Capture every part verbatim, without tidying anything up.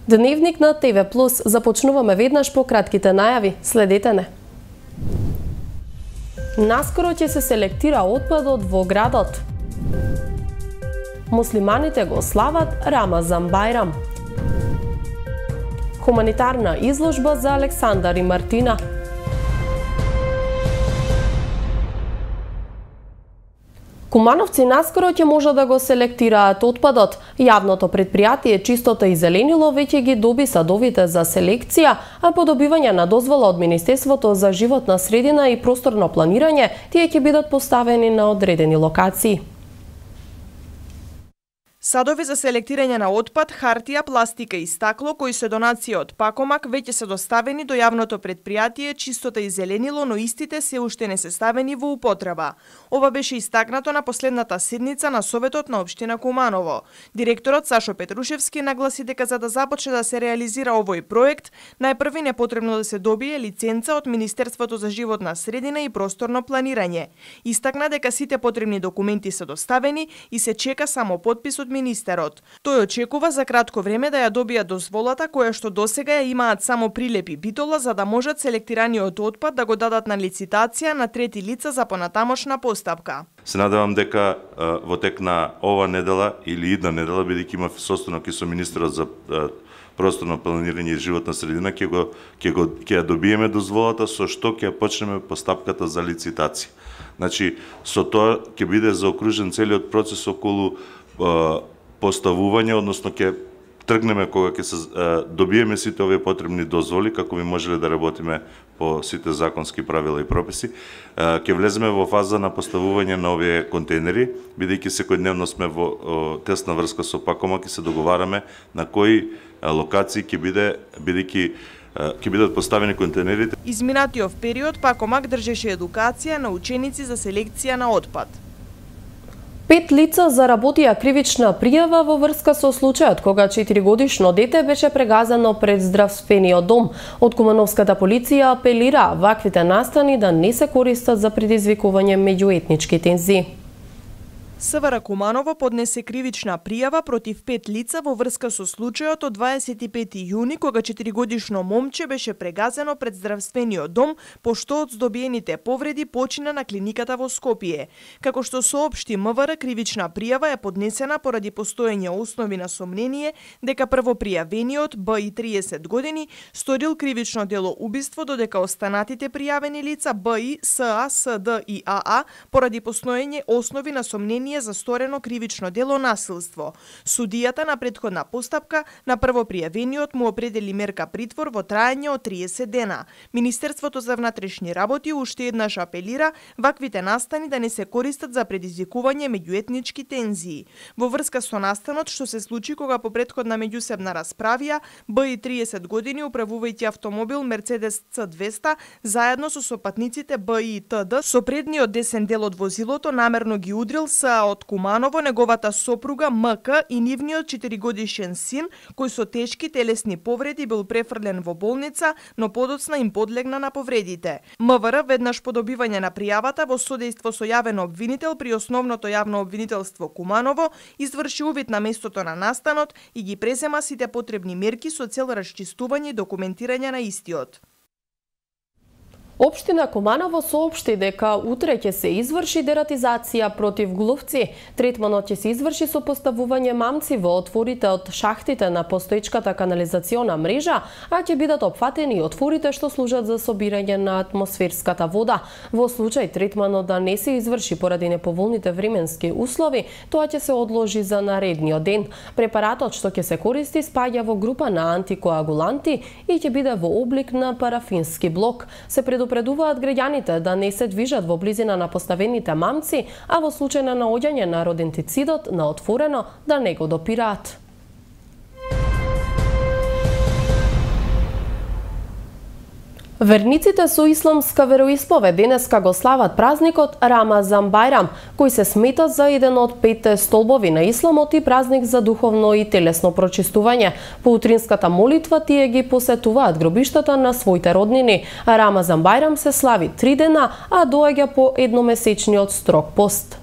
Дневник на ТВ Плюс. Започнуваме веднаш по кратките најави. Следете не. Наскоро ќе се селектира отпадот во градот. Муслиманите го слават Рамазан Бајрам. Хуманитарна изложба за Александар и Мартина. Кумановци наскоро ќе може да го селектираат отпадот. Јавното предпријатие Чистота и зеленило веќе ги доби садовите за селекција, а по добивање на дозвола од Министерството за животна средина и просторно планирање, тие ќе бидат поставени на одредени локации. Садови за селектирање на отпад, хартија, пластика и стакло, кои се донација од Пакомак, веќе се доставени до јавното предпријатие Чистота и зеленило, но истите се уште не се ставени во употреба. Ова беше истакнато на последната седница на Советот на општина Куманово. Директорот Сашо Петрушевски нагласи дека за да започне да се реализира овој проект, најпрви не потребно да се добие лиценца од Министерството за животна средина и просторно планирање. Истакна дека сите потребни документи се доставени и се чека само подпис од министерот. Тој очекува за кратко време да ја добија дозволата која што досега ја имаат само прилепи битола за да можат селектираниот отпад да го дадат на лицитација на трети лица за понатамошна постапка. Се надевам дека во тек на ова недела или идна недела, бидејќи има состанок и со министерот за просторно планирање и животна средина, ќе го ќе го ќе ја добиеме дозволата со што ќе почнеме постапката за лицитација. Значи со тоа ќе биде заокружен целиот процес околу поставување, односно ќе тргнеме кога ќе се добиеме сите овие потребни дозволи како би можеле да работиме по сите законски правила и прописи. Ќе влеземе во фаза на поставување на овие контейнери, бидејќи секојдневно сме во тесна врска со Пакомак и се договараме на кои локации ќе биде бидејќи ќе бидат поставени контейнерите. Изминатиот период Пакомак држеше едукација на ученици за селекција на отпад. Пет лица заработија кривична пријава во врска со случајот кога четиригодишно дете беше прегазено пред здравствениот дом. Од Кумановската полиција апелира ваквите настани да не се користат за предизвикување меѓуетнички тензии. СВР Куманово поднесе кривична пријава против пет лица во врска со случајот од дваесет и пети јуни кога четиригодишно момче беше прегазено пред здравствениот дом пошто од здобиените повреди почина на клиниката во Скопје. Како што соопшти МВР, кривична пријава е поднесена поради постоење основи на сомнение дека првопријавениот Б И триесет години сторил кривично дело убиство, додека останатите пријавени лица Б И, С А, С Д и А А поради постоење основи на сомнение за сторено кривично дело насилство. Судијата на претходна постапка на првопријавениот му определи мерка притвор во траење од триесет дена. Министерството за внатрешни работи уште еднаш апелира ваквите настани да не се користат за предизвикување меѓуетнички тензии. Во врска со настанот што се случи кога по претходна меѓусебна расправија Б И триесет години управувајќи автомобил Мерцедес Ц двеста заедно со сопатниците Б И и Т Д со предниот десен дел од возилото намерно ги удрил С од Куманово, неговата сопруга М К и нивниот четиригодишен син, кој со тешки телесни повреди бил префрлен во болница, но подоцна им подлегна на повредите. МВР веднаш по добивање на пријавата во содејство со јавен обвинител при Основното јавно обвинителство Куманово изврши увид на местото на настанот и ги презема сите потребни мерки со цел расчистување и документирање на истиот. Општина Куманово соопшти дека утре ќе се изврши дератизација против глувци. Третманот ќе се изврши со поставување мамци во отворите од шахтите на постоечката канализациона мрежа, а ќе бидат опфатени и отворите што служат за собирање на атмосферската вода. Во случај третманот да не се изврши поради неповолните временски услови, тоа ќе се одложи за наредниот ден. Препаратот што ќе се користи спаѓа во група на антикоагуланти и ќе биде во облик на парафински блок. Се предупредуваат граѓаните да не се движат во близина на поставените мамци, а во случај на наоѓање на родентицидот на отворено да не го допираат. Верниците со исламска вероисповед денеска го слават празникот Рамазан Бајрам, кој се смета за еден од петте столбови на исламот и празник за духовно и телесно прочистување. По утринската молитва тие ги посетуваат гробиштата на своите роднини. Рамазан Бајрам се слави три дена, а доаѓа по едномесечниот строг пост.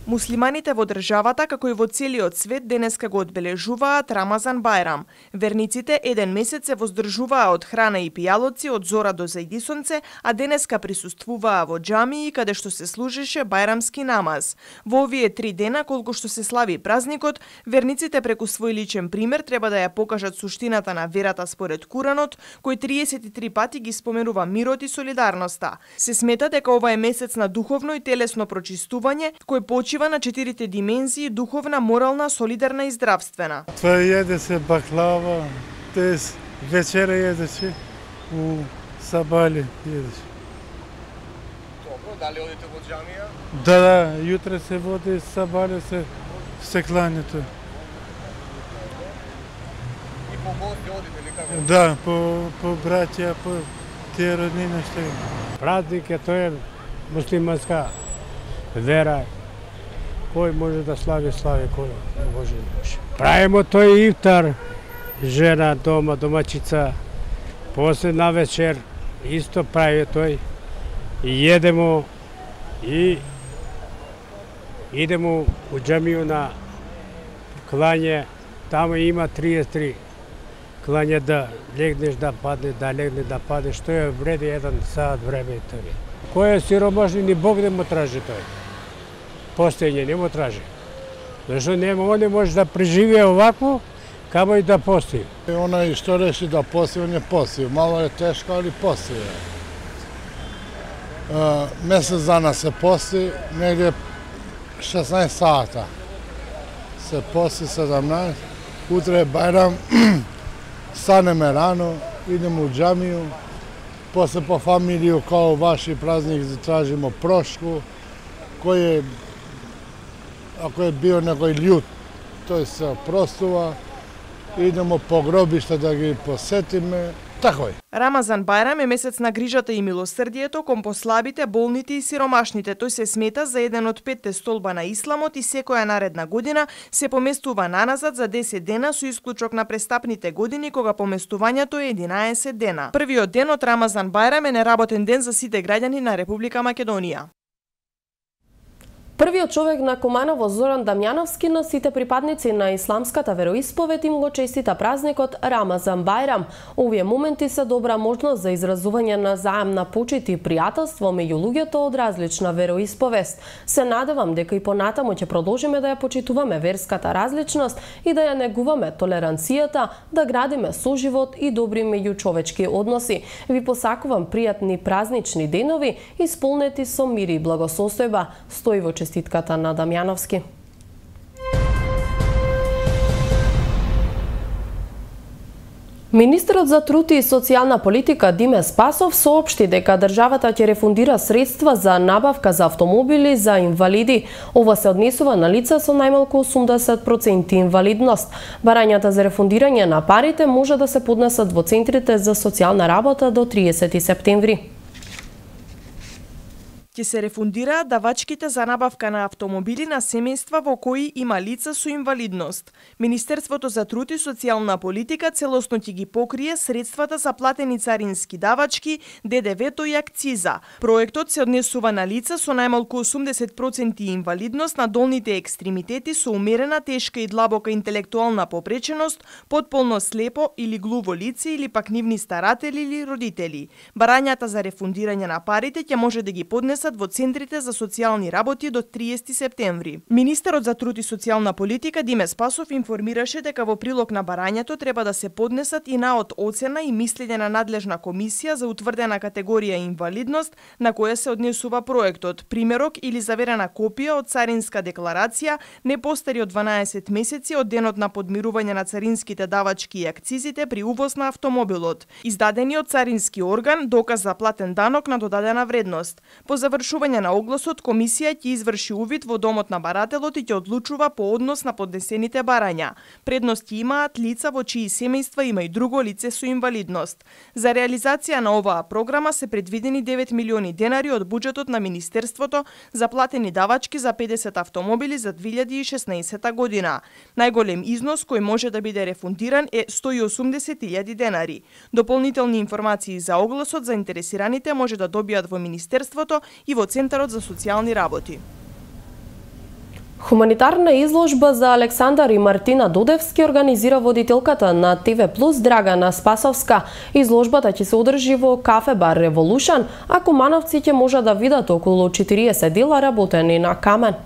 Муслиманите во државата, како и во целиот свет, денеска го одбележуваат Рамазан Бајрам. Верниците еден месец се воздржуваа од храна и пијалоци од зора до зајди сонце, а денеска присуствуваа во џамии каде што се служеше бајрамски намаз. Во овие три дена, колку што се слави празникот, верниците преку свој личен пример треба да ја покажат суштината на верата според Куранот, кој триесет и три пати ги споменува мирот и солидарноста. Се смета дека ова е месец на духовно и телесно прочистување, кој почива на четирите димензии: духовна, морална, солидарна и здравствена. Това једе се баклава, тез вечера једеше у Сабали једеше. Добро, дали одите во џамија? Да, да, јутре се води Сабали, се се клањето. И по гости одите ли како? Да, по по браќа, по тие роднини што има. Празник е, тој е муслиманска вера. Кој може да слави, слави, кој не може, не може. Правимо тој ифтар, жена дома, домачица, после на вечер исто прави тој, и једемо, и идемо у џамију на клање, таму има триесет и три клање да легнеш да падне, да легне да падне, што е вреди еден сат време и тој. Кој е сиромашни, ни Бог не му тражи тој. Постојање не му тражи. Зашто нема, он не може да преживее овакво, камо и да постои. Онај што реши да постои, он е постои. Мало е тешко, али постои. Месец дана се постои, негде шеснаесет сата. Се постои седамнаесет. Утре е Бајрам, станеме рано, идеме у џамију, после по фамилију, као ваши празник, тражимо прошку, кој е, ако е био некој љут, тој се опростува, идемо по гробишта да ги посетиме, тако е. Рамазан Бајрам е месец на грижата и милосрдието кон послабите, болните и сиромашните. Тој се смета за еден од петте столба на исламот и секоја наредна година се поместува наназад за десет дена со исклучок на престапните години кога поместувањето е единаесет дена. Првиот ден од Рамазан Бајрам е неработен ден за сите граѓани на Република Македонија. Првиот човек на Куманово, Зоран Дамјановски, на сите припадници на исламската вероисповед им го честита празникот Рамазан Бајрам. Овие моменти се добра можност за изразување на заемна почит и пријателство меѓу луѓето од различна вероисповест. Се надевам дека и понатаму ќе продолжиме да ја почитуваме верската различност и да ја негуваме толеранцијата, да градиме соживот и добри меѓучовечки односи. Ви посакувам пријатни празнични денови, исполнети со мир и благосостојба. Стои во честитката на Дамјановски. Министерот за труд и социјална политика Диме Спасов соопшти дека државата ќе рефундира средства за набавка за автомобили за инвалиди. Ова се однесува на лица со најмалку осумдесет проценти инвалидност. Барањата за рефундирање на парите може да се поднесат во центрите за социјална работа до триесети септември. Ќе се рефундираат давачките за набавка на автомобили на семејства во кои има лица со инвалидност. Министерството за труд и социјална политика целосно ќе ги покрие средствата за платени царински давачки, ДДВ-то и акциза. Проектот се однесува на лица со најмалку осумдесет проценти инвалидност на долните екстремитети со умерена, тешка и длабока интелектуална попреченост, потполно слепо или глуво лице или пак нивни старатели или родители. Барањата за рефундирање на парите ќе може да ги поднесат во центрите за социјални работи до триесети септември. Министерот за труд и социјална политика Диме Спасов информираше дека во прилог на барањето треба да се поднесат и наод оцена и мислење на надлежна комисија за утврдена категорија инвалидност на која се однесува проектот, примерок или заверена копија од царинска декларација не постари од дванаесет месеци од денот на подмирување на царинските давачки и акцизите при увоз на автомобилот, издадени од царински орган доказ за платен данок на додадена вредност. По завршување на огласот, комисија ќе изврши увид во домот на барателот и ќе одлучува по однос на поднесените барања. Предности имаат лица во чии семејства има и друго лице со инвалидност. За реализација на оваа програма се предвидени девет милиони денари од буџетот на Министерството за платени давачки за педесет автомобили за две илјади и шеснаесета година. Најголем износ кој може да биде рефундиран е сто и осумдесет илјади денари. Дополнителни информации за огласот заинтересираните може да добијат во Министерството и во Центарот за социјални работи. Хуманитарна изложба за Александар и Мартина Додевски организира водителката на ТВ Плюс Драгана Спасовска. Изложбата ќе се одржи во кафе бар Револушн, а кумановци ќе можат да видат околу четириесет дела работени на камен.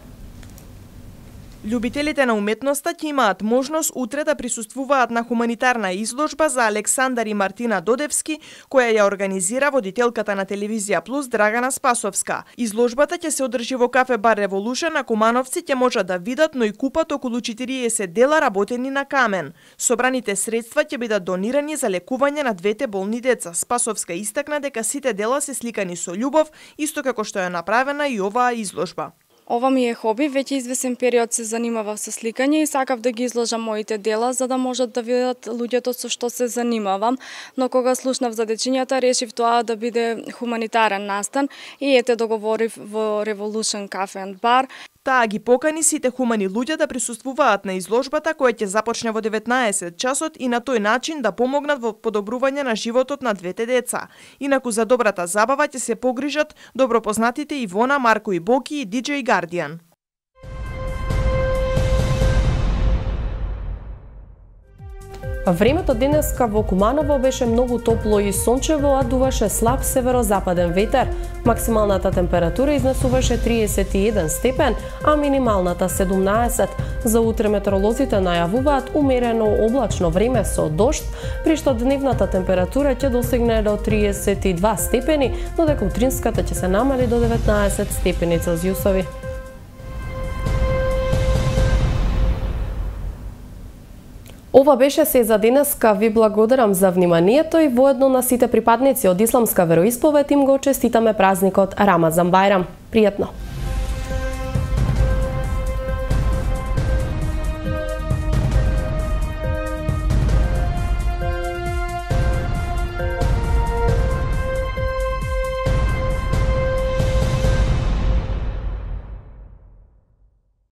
Љубителите на уметноста ќе имаат можност утре да присуствуваат на хуманитарна изложба за Александар и Мартина Додевски, која ја организира водителката на телевизија Плюс Драгана Спасовска. Изложбата ќе се одржи во кафе бар Револушн, а кумановци ќе можат да видат, но и купат околу четириесет дела работени на камен. Собраните средства ќе бидат донирани за лекување на двете болни деца. Спасовска истакна дека сите дела се сликани со љубов, исто како што е направена и оваа изложба. Ова ми е хоби, веќе извесен период се занимавав со сликање и сакав да ги изложам моите дела за да можат да видат луѓето со што се занимавам, но кога слушнав за дечињата решив тоа да биде хуманитарен настан и ете договорив во Revolution Cafe and Bar. Таа ги покани сите хумани луѓе да присуствуваат на изложбата која ќе започне во деветнаесет часот и на тој начин да помогнат во подобрување на животот на двете деца. Инаку за добрата забава ќе се погрижат добро познатите Ивона, Марко и Боки и диџеј Гардијан. Времето денеска во Куманово беше многу топло и сончево, а дуваше слаб северозападен ветер. Максималната температура изнесуваше триесет и еден степен, а минималната седумнаесет. За утре метеоролозите најавуваат умерено облачно време со дожд, при што дневната температура ќе достигне до триесет и два степени, додека утринската ќе се намали до деветнаесет степени Целзиусови. Ова беше се за денеска. Ви благодарам за вниманието и воедно на сите припадници од исламска вероисповед им го честитаме празникот Рамазан Бајрам. Пријатно!